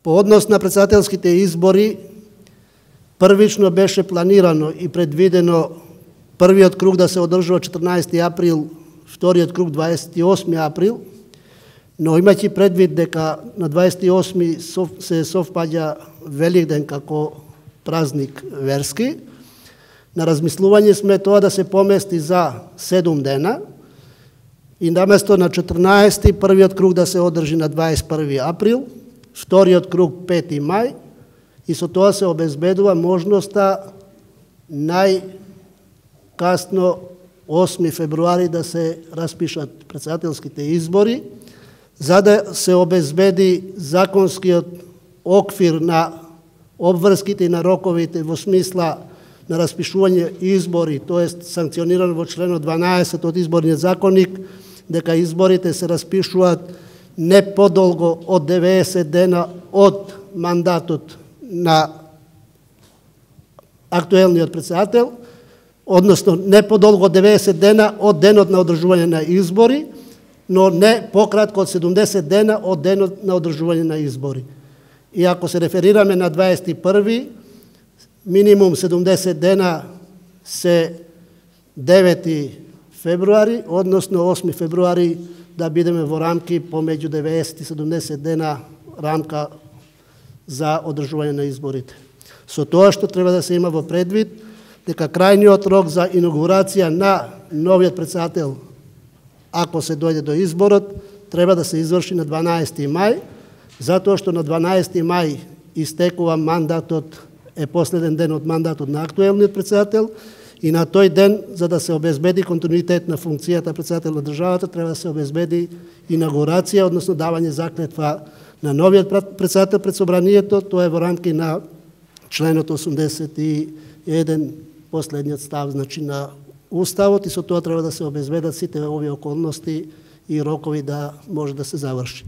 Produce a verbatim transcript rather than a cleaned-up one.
По однос на председателските избори, првично беше планирано и предвидено првиот круг да се одржува четрнаесети април, вториот круг дваесет и осми април, но имајќи предвид дека на дваесет и осми се совпаѓа Великден како празник верски, на размислување сме тоа да се помести за седум дена и наместо на четрнаесети првиот круг да се одржи на дваесет и први април, вториот круг пети мај и со тоа се обезбедува можноста најкасно осми февруари да се распишат председателските избори, за да се обезбеди законскиот оквир на обврските и на роковите во смисла на распишување избори, тоест санкционирано во членот дванаесет од изборниот законник, дека изборите се распишуваат не подолго од деветдесет дена од мандатот на актуелниот председател, односно не подолго од деветдесет дена од денот на одржување на избори, но не пократко од седумдесет дена од денот на одржување на избори. И ако се реферираме на дваесет и први, минимум седумдесет дена се девети февруари, односно осми февруари, да бидеме во рамки помеѓу деветдесет и седумдесет дена рамка за одржување на изборите. Со тоа што треба да се има во предвид, дека крајниот рок за инаугурација на новиот председател, ако се дојде до изборот, треба да се изврши на дванаесети мај, затоа што на дванаесети мај истекува мандатот, е последен ден од мандатот на актуелниот председател, и на тој ден, за да се обезбеди континуитет на функцијата председател на државата, треба да се обезбеди инаугурација, односно давање заклетва на новиот председател пред собранието. Тоа е во рамки на членот осумдесет и еден, последниот став, значи на Уставот, и со тоа треба да се обезбедат сите овие околности и рокови да може да се заврши.